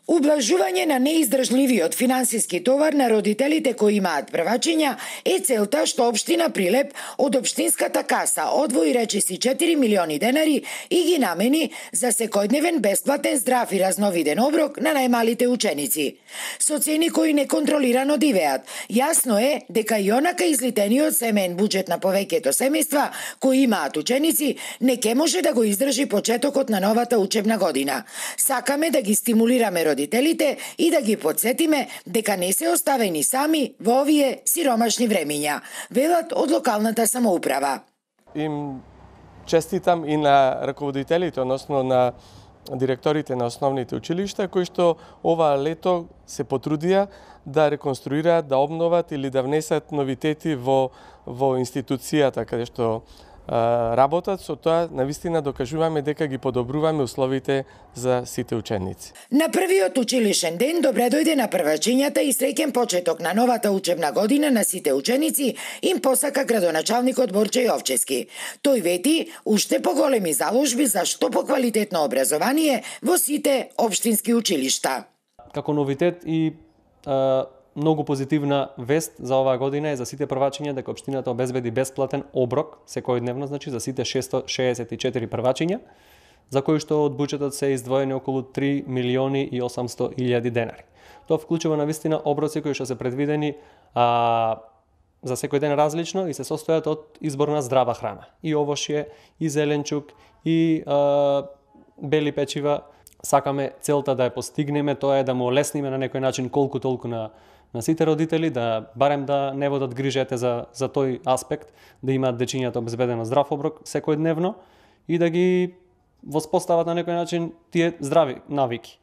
Ублажување на неиздржливиот финансиски товар на родителите кои имаат првачиња е целта што општина Прилеп од општинската каса одвои речиси 4 милиони денари и ги намени за секојдневен бесплатен здрав и разновиден оброк на најмалите ученици. Со цени кои неконтролирано дивеат, јасно е дека и онака излитениот семеен буџет на повеќето семејства кои имаат ученици не ќе може да го издржи почетокот на новата учебна година. Сакаме да ги стимулираме родителите и да ги подсетиме дека не се оставени сами во овие сиромашни времиња, велат од локалната самоуправа. Им честитам и на раководителите, односно на директорите на основните училишта, кои што ова лето се потрудија да реконструираат, да обноват или да внесат новитети во институцијата каде што работат. Со тоа навистина докажуваме дека ги подобруваме условите за сите ученици. На првиот училишен ден добре дојде на првачињата и среќен почеток на новата учебна година на сите ученици им посака градоначалникот Борче Јовчевски. Тој вети уште поголеми заложби за што поквалитетно образование во сите општински училишта. Како новитет и многу позитивна вест за оваа година е за сите првачиња дека општината обезбеди бесплатен оброк секојдневно, значи за сите 664 првачиња, за кои што од буџетот се издвоени околу 3 милиони и 800 илјади денари. Тоа вклучува навистина оброци кои што се предвидени за секој ден различно и се состојат од избор на здрава храна. И овошје, и зеленчук, и бели печива. Сакаме целта да ја постигнеме, тоа е да му олесниме на некој начин колку толку на сите родители, да барем да не водат грижете за тој аспект, да имаат дечињата обезбедено здрав оброк секојдневно и да ги воспостават на некој начин тие здрави навики.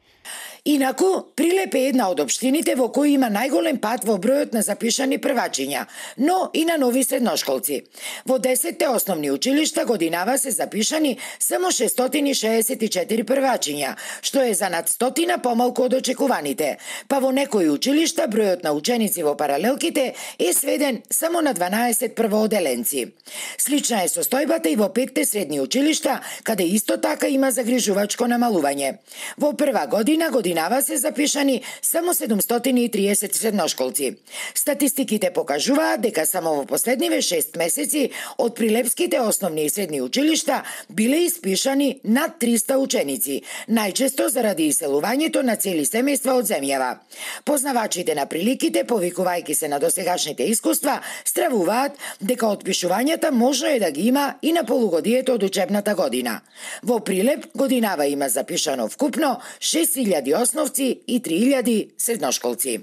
Инаку, Прилеп е една од општините во кои има најголем пат во бројот на запишани првачиња, но и на нови средношколци. Во 10 основни училишта годинава се запишани само 664 првачиња, што е за над 100 помалку од очекуваните, па во некои училишта бројот на ученици во паралелките е сведен само на 12 првооделенци. Слична е состојбата и во 5 средни училишта, каде исто така има загрижувачко намалување. Во прва годинава се запишани само 730 средношколци. Статистиките покажуваат дека само во последниве 6 месеци од прилепските основни и средни училишта биле испишани над 300 ученици, најчесто заради иселувањето на цели семејства од земјава. Познавачите на приликите, повикувајќи се на досегашните искуства, стравуваат дека отпишувањата можно е да ги има и на полугодието од учебната година. Во Прилеп годинава има запишано вкупно 6000 основци и 3000 средношколци.